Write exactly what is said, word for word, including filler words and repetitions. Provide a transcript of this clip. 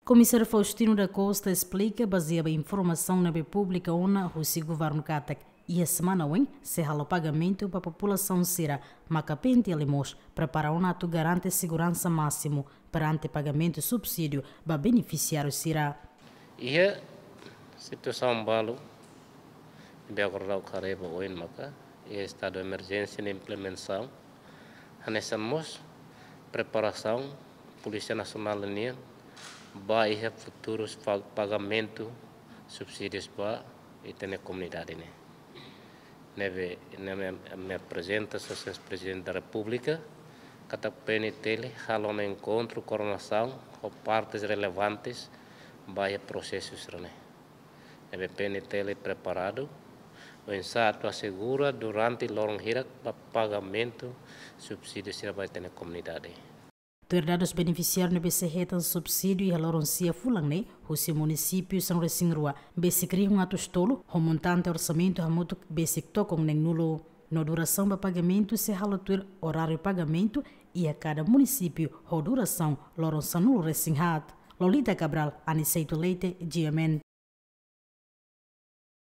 Komisáriu Faustino da Costa esplika, bazeia ba informasaun ne'ebé publika ona husi governu katak iha semana oin sei halo pagamentu ba populasaun sira, maka PNTL mós prepara ona atu garante seguransa másimu perante pagamentu subsídiu ba benefisiáriu sira. Iha situasaun balu ne'ebé agora daudaun haree ba oin maka iha estadu emerjénsia nia implementasaun, hanesan mós preparasaun Polísia Nasionál nian ba iha futurus pa-, pagamentu subsídius ba ita-nia komunidade ne'e. Ne'ebé, ne'ebé ami aprezenta Sua Exelénsia Prezidente da Repúblika katak PNTL halo ona enkontru koordenasaun ho partes relevantes ba iha prosesu sira-ne'e. Ne'ebé PNTL preparadu oinsá atu asegura durante loron hirak ba pagamentu subsídiu sira ba ita-nia komunidade. Tuir dadus benefisiáriu ne'ebé sei hetan subsídiu iha loron sia fulan ne'e husi munisípiu sanulu-resin-rua, besik rihun atus tolu, ho montante orsamentu hamutuk besik tokon neen-nulu. No durasaun ba pagamentu sei halo tuir oráriu pagamentu iha kada munisípiu ho durasaun loron sanulu-resin-haat. Lolita Cabral, Aniceto Leite, GMN.